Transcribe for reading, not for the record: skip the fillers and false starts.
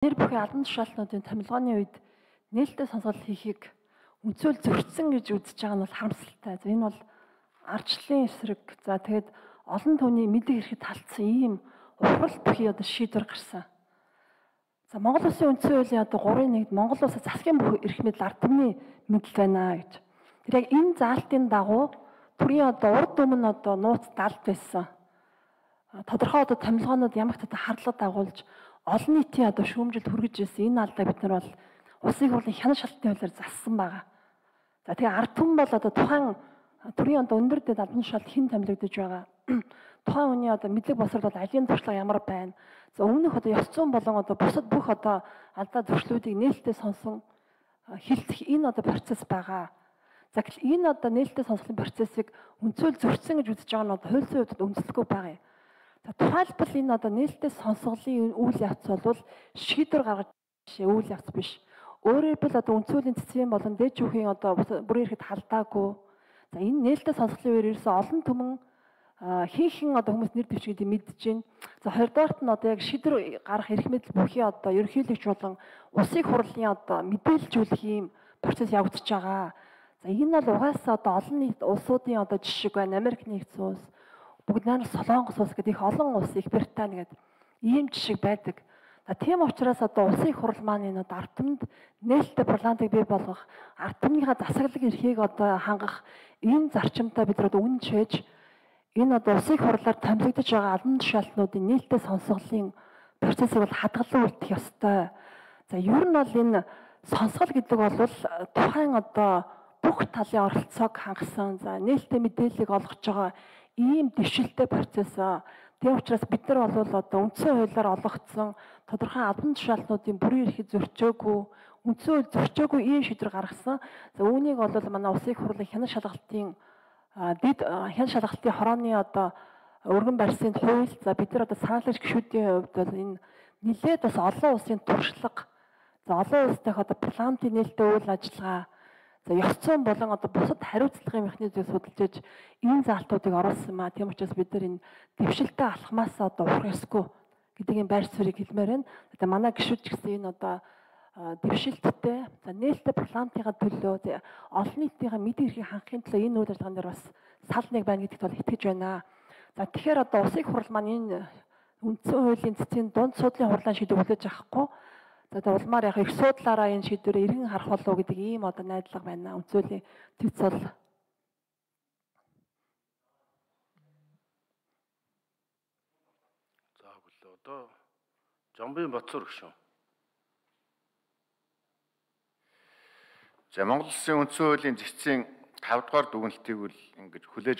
Нэр бүхий албан тушаалтнуудын томилгооны үед нээлттэй сонсгол хийхийг үнцөл зөрчсөн гэж үзэж байгаа нь бол харамсалтай. За энэ бол ардчлалын эсрэг. За тэгээд олон түүний мэдээ ирэхэд талцсан ийм ухрал бүхий одоо шийдвэр гарсан. За Монгол Улсын үндсэн хуулийн одоо 3-1-д Монгол Улсад засгийн бүх эрх мэдэл ард түмний мэдэл байна гэж. Тэр яг энэ заалтын дагуу төрийн одоо урд өмнө одоо нууц далд байсан. Тодорхой одоо томилгоонууд ямагт одоо харлага дагуулж олон нийтийн одоо шүүмжилд хүргэж ирсэн энэ алдаа бид нар бол улсын хурлын хянах шалтгааны хуулиар зассан байгаа. За тэгээ ард түмэн бол одоо тухайн төрийн одоо өндөр дэд албан тушаалд хэн томилогдож байгаа. Тухайн хүний одоо мэдлэг босрол бол алийн туршлага ямар байна. За өмнөх одоо ёс зүйн болон одоо бусад бүх одоо алдаа зөрчлүүдийг нээлттэй сонсон хилцэх энэ одоо процесс байгаа. За гэвэл энэ одоо нээлттэй сонсголын процессыг үнцөл зөрчсөн гэж үзэж байгаа нь одоо хууль зүйн хувьд үндэслэхгүй байгаа юм. За тухайлбал энэ одоо нээлттэй сонсголын үйл явц бол шийдвэр гаргаж үйл явц биш. Өөрөөр хэлбэл одоо үндсүүлийн цэцгийн болон дээд шүүхийн одоо бүрийн эрхэд халдаагүй. За энэ нээлттэй сонсголын үеэр ирсэн олон түмэн хийхэн одоо хүмүүс нэр дэвшигдээ мэдж байна. За хоёрдугаарт нь одоо яг шийдвэр гарах эрх мэдэл бүхий одоо ерөнхийлөгч болон улсын хурлын одоо мэдээлжүүлэх ийм процесс явагдаж байгаа. За энэ бол угаасаа одоо олон нийт улсуудын одоо жишг байна. Америк нэгдсэн улс, бүгд найрамд Солонгос улс гэдэг их олон улс, Их Британи гэдэг ийм жишг байдаг. За тийм учраас одоо улсын хурал маань энэ одоо ард түмэнд нээлттэй парламентыг бий болгох, ард түмнийхээ засаглалын эрхийг одоо хангах ийм зарчимтай бид нар одоо үнэн чийж энэ одоо улсын хурлаар томилогдож байгаа албан тушаалтнуудын нээлттэй сонсголын процессыг бол хадгалан үлдэх ёстой. За ер нь бол энэ сонсгол гэдэг бол тухайн одоо бүх талын оролцоог хангасан, за нээлттэй мэдээллийг олгож байгаа ийм дэвшилтэй процесс. Тийм учраас бид нар бол одоо үндсэн хуулиар олгогдсон тодорхой албан тушаалтнуудын бүрийн эрхийг зөрчөөгүй, үндсэн хууль зөрчөөгүй ийм шийдвэр гаргасан. За үүнийг бол манай улсын хурлын хянах шалгалтын хянах шалгалтын хорооны одоо өргөн барьсан хууль. За бид нар одоо санаалагч гишүүдийн хувьд бол энэ нэлээд бас олон улсын туршлага, за олон улстай одоо парламентын нээлттэй үйл ажиллагаа, за ёс зүйн болон одоо бусад хариуцлагын механизмыг судалж иж энэ заалтуудыг оруулсан маа. Тийм учраас бид нар энэ дэвшилтэй алхмаас одоо урах ёсгүй гэдгийг байр суурийг хэлмээр байна. Одоо манай гишүүд ч гэсэн энэ одоо дэвшилттэй, за нээлттэй парламентынхаа төлөө олон нийтийн мэдээ эрхийг хангахын төлөө энэ үйл ажиллагаан дээр бас сал нэг байна гэдэгт бол итгэж байна. За тэгэхээр одоо улсын хурал маань энэ үндсэн хуулийн цэцгийн дунд судлалын хурлын шийдвэр хүлээж авахгүй. За тэгээ улмаар яг их судлаараа энэ шийдвэрээ эргэн харах болов гэдэг ийм одоо найдлага байна. Үндсүүлийн төц бол за бүлээ одоо Жамбын Батцуур гүшүүн. За Монгол Улсын үндсэн хуулийн зэцсийн 5 дугаар дүгнэлтийг бол ингэж хүлээж